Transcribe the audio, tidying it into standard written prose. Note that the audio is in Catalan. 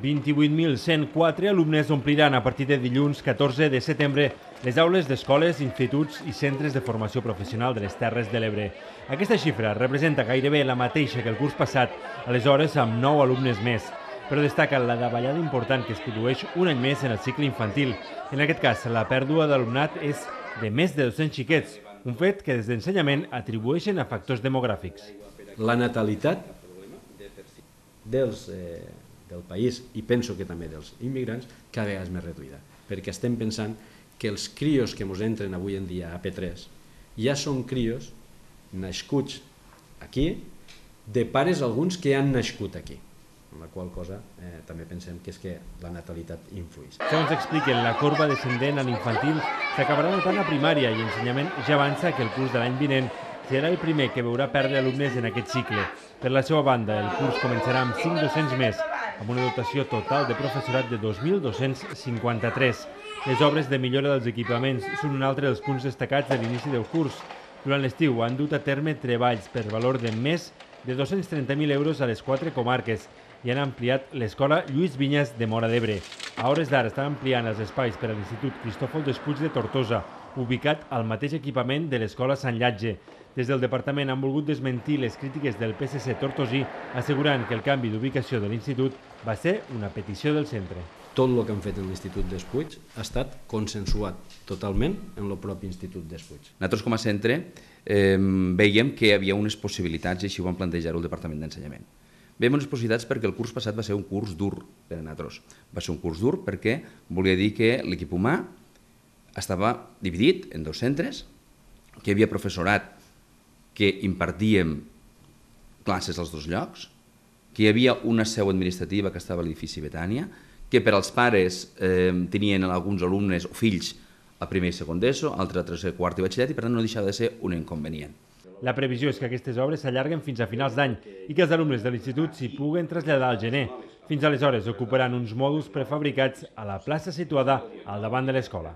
28.104 alumnes ompliran a partir de dilluns 14 de setembre les aules d'escoles, instituts i centres de formació professional de les Terres de l'Ebre. Aquesta xifra representa gairebé la mateixa que el curs passat, aleshores amb 9 alumnes més, però destaca la davallada important que es produeix un any més en el cicle infantil. En aquest cas, la pèrdua d'alumnat és de més de 200 xiquets, un fet que des d'ensenyament atribueixen a factors demogràfics. La natalitat del país, i penso que també dels immigrants, cada vegada és més reduïda, perquè estem pensant que els crios que ens entren avui en dia a P3 ja són crios nascuts aquí, de pares alguns que han nascut aquí, amb la qual cosa també pensem que és que la natalitat influeix. Segons expliquen, la corba descendent a l'infantil s'acabarà notant a primària i ensenyament ja avança que el curs de l'any vinent serà el primer que veurà perdre alumnes en aquest cicle. Per la seva banda, el curs començarà amb 5 docents més, amb una dotació total de professorat de 2.253. Les obres de millora dels equipaments són un altre dels punts destacats de l'inici del curs. Durant l'estiu han dut a terme treballs per valor de més de 230.000 euros a les 4 comarques i han ampliat l'escola Lluís Vinyes de Móra d'Ebre. A hores d'ara estan ampliant els espais per a l'Institut Cristòfol Despuig de Tortosa, ubicat al mateix equipament de l'escola Sant Llatge. Des del departament han volgut desmentir les crítiques del PSC tortosí, assegurant que el canvi d'ubicació de l'institut va ser una petició del centre. Tot el que han fet en l'Institut Despuig ha estat consensuat totalment en el propi Institut Despuig. Nosaltres com a centre veiem que hi havia unes possibilitats, i així ho vam plantejar el Departament d'Ensenyament. Veiem unes possibilitats perquè el curs passat va ser un curs dur per a nosaltres. Va ser un curs dur perquè volia dir que l'equip humà estava dividit en 2 centres, que hi havia professorat que impartíem classes als 2 llocs, que hi havia una seu administrativa que estava a l'edifici Betània, que per als pares tenien alguns alumnes o fills a primer i segon d'ESO, altres a tercer, quart i batxillerat, i per tant no deixava de ser un inconvenient. La previsió és que aquestes obres s'allarguen fins a finals d'any i que els alumnes de l'institut s'hi puguen traslladar al gener. Fins aleshores ocuparan uns mòduls prefabricats a la plaça situada al davant de l'escola.